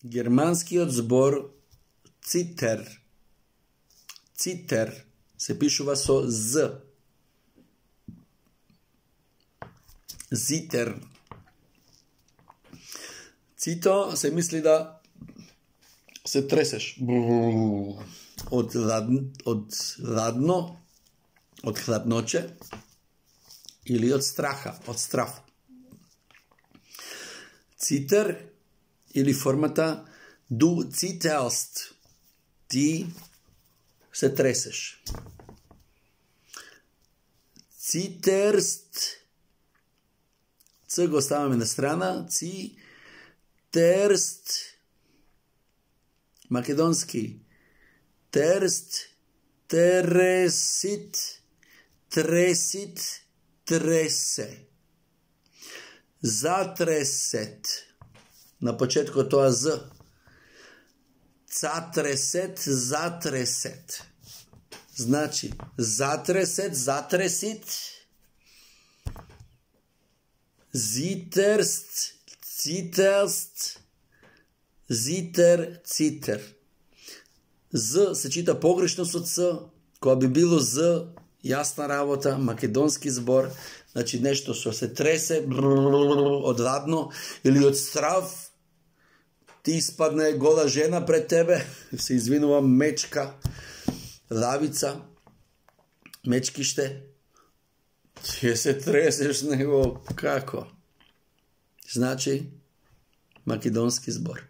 Германскиот збор цитер. Цитер се пишува со з. Зитер. Цито се мисли да се тресеш. Од ладно, од хладноче или од страха, од страф. Цитер или формата du zitterst. Ти се тресеш. Zitterst. Ц го ставаме на страна. Zitterst. Македонски. Терст. Тересит. Тресит. Тресе. Затресет. На почетку тоа з. Затресет, затресет. Значи, затресет, затресит. Зитерст, цитерст. Зитер, цитер. З се чита погрешно со ц, кога би било з, јасна работа, македонски збор, значи нешто што се тресе од ладно или од страв. Ти испадне гола жена пред тебе, се извинува, мечка, лавица, мечкиште, ти се тресеш него, како? Значи, македонски збор.